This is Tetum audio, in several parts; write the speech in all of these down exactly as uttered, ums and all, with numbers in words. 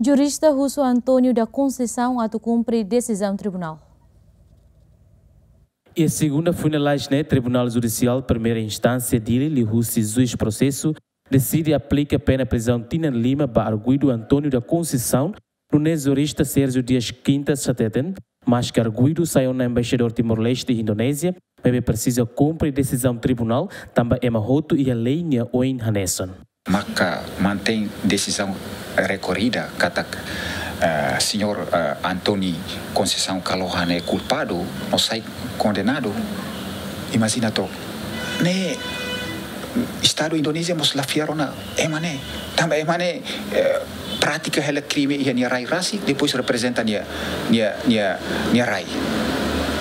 Jurista husu António da Conceição atu kumpre desizaun tribunál. Iha segunda foin lalais ne'e, Tribunál Judisiál Primeira Instánsia Dili liuhusi juís prosesu deside aplika pena prizaun tinan lima ba arguidu António da Conceição, nune'e jurista Sérgio Dias Quintas hateten, maske arguidu sai ona embaixadór Timor-Leste iha Indonézia, maibé presiza kumpre desizaun tribunál, tanba ema hotu iha lei nia oin hanesan. Maka mantein desizaun rekorrida katak, eh, señór, eh, António Conceição Kalohan ne'e kulpadu no sai kondenadu. Imajina took. Ne'e Estadu Indonézia mós la fiar ona ema ne'e. Tanba ema ne'e, eh, pratika hela krime iha nia rai rasik, depois reprezenta nia, nia, nia, nia rai.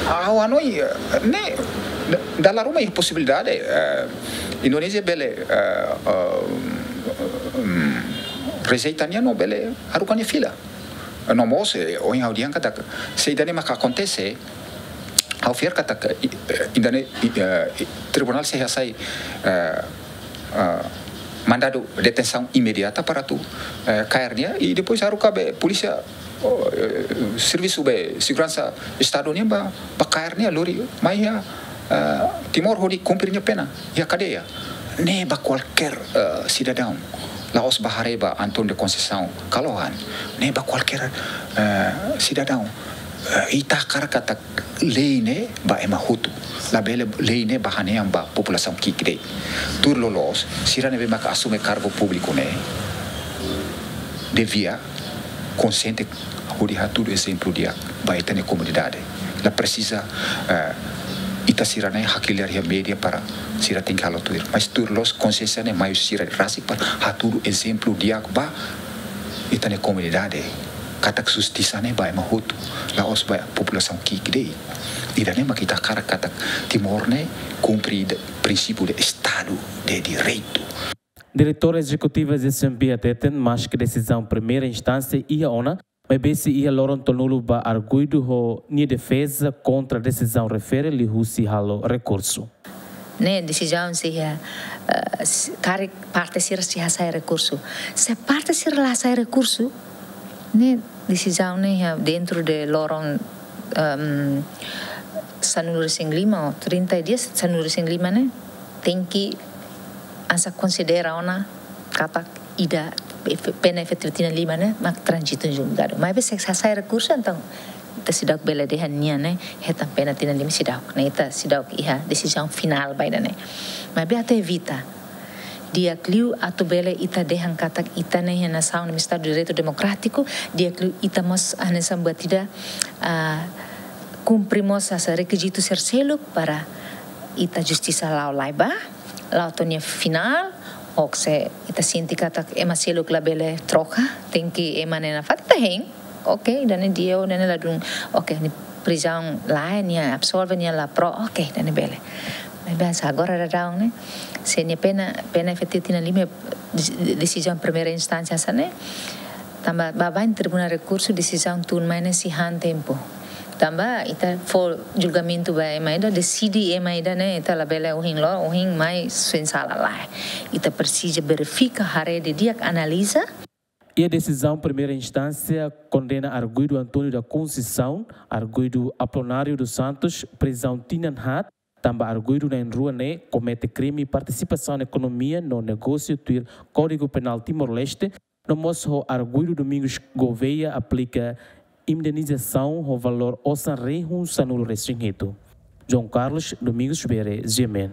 Ha'u hanoin, eh, ne'e, da-, dala ruma iha posibilidade, eh, Indonézia bele, eh, eh, mm, rejeita nia no bele haruka nia fila. No mós, eh, ohin ha'u dehan katak, se ida-ne'e maka akontese, ha'u fiar katak, eh, ida-ne'e, eh, tribunál sei hasai, eh, eh, mandadu detensaun imediata para atu, eh, kaer nia, i depois haruka be polísia, oh, eh, servisu be seguransa Estadu nian ba, ba kaer nia lori mai iha, eh, Timor hodi kumpre nia pena iha kadeia. Ne'e ba kualkér, eh, sidadaun, la'ós ba haree ba António da Conceição Kalohan, ne'e ba kualkér, eh, sidadaun, eh, ita hakarak katak lei ne'e ba ema hotu, labele lei ne'e ba hanehan ba populasaun ki'ik de'it. Tuir loloos, sira ne'ebé maka asume kargu públiku ne'e devia konxiente hodi hatudu ezemplu di'ak ba ita-nia komunidade. La presiza, eh, ita sira ne'e hakilar iha média para sira tenke halo tuir. Mas tuir loloos konxiénsia ne'e mai husi sira rasik para hatudu ezemplu di'ak ba ita-nia komunidade. Katak justisa ne'e ba ema hotu, la'ós ba populasaun ki'ik de'it. Ida-ne'e mak ita hakarak katak Timor ne'e kumpre prinsípiu de Estadu de Direitu. Diretora Ezekutiva S M P hateten, maske desizaun primeira instánsia iha ona, maibé sei iha loron tolunulu ba arguidu ho nia defeza kontra desizaun refere liuhusi halo rekursu. Ne'e desizaun sei iha, eh, s-, karik parte sira sei hasai rekursu. Se parte sira la hasai rekursu, ne'e desizaun ne'e iha dentro de loron, ehm, sanulu-resin-lima ou trinta dias, sanulu-resin-lima ne'e, tenke hanesan konsidera ona katak ida efe-, pena efetivu tinan lima ne'e mak tranzitu julgadu. Maibé se hasai rekursu, entaun ita seidauk bele dehan nia ne'e hetan pena tinan lima, seidauk. Ne'e ita seidauk iha desizaun finál ba ida-ne'e. Maibé atu evita, di'ak liu atu bele ita dehan katak ita ne'e iha nasaun ne'ebé Estadu de Direitu Demokrátiku, di'ak liu ita mós hanesan buat ida, ah, kumpre mós hanesan rekizitu sira seluk para ita justisa la'o lai ba, la'o to'o nia finál, ou se ita sente katak ema seluk labele troka, tenke ema ne'e nafatin, ita hein. Oke, ida-ne'e di'ak, ida-ne'e ladún. Oke, nia prizaun lae, nia absolve, nia la pro, oke, ida-ne'e bele. Maibé hanesan agora daudaun ne'e, se nia pena, pena efetivu tinan lima, desi-, desizaun primeira instánsia hanesan ne'e, tanba baibain tribunál rekursu desizaun tun mai ne'e sei han tempu. Tanba ita fó julgamentu ba ema ida, deside ema ida ne'e, ita labele ohin loron, ohin mai, sein sala lae. Ita presiza verifika, haree didi'ak, analiza. Iha desizaun primeira instánsia kondena arguidu António da Conceição, arguidu Apolinário dos Santos prizaun tinan haat, tanba arguidu na'in-rua ne'e komete krime partisipasaun ekonomia no negósiu tuir Kódigu Penál Timor-Leste, no mós ho arguidu Domingos Gouveia aplika indenizasaun ho valór osan rihun sanulu-resin-hitu. João Carlos, Domingos Bere, G M N.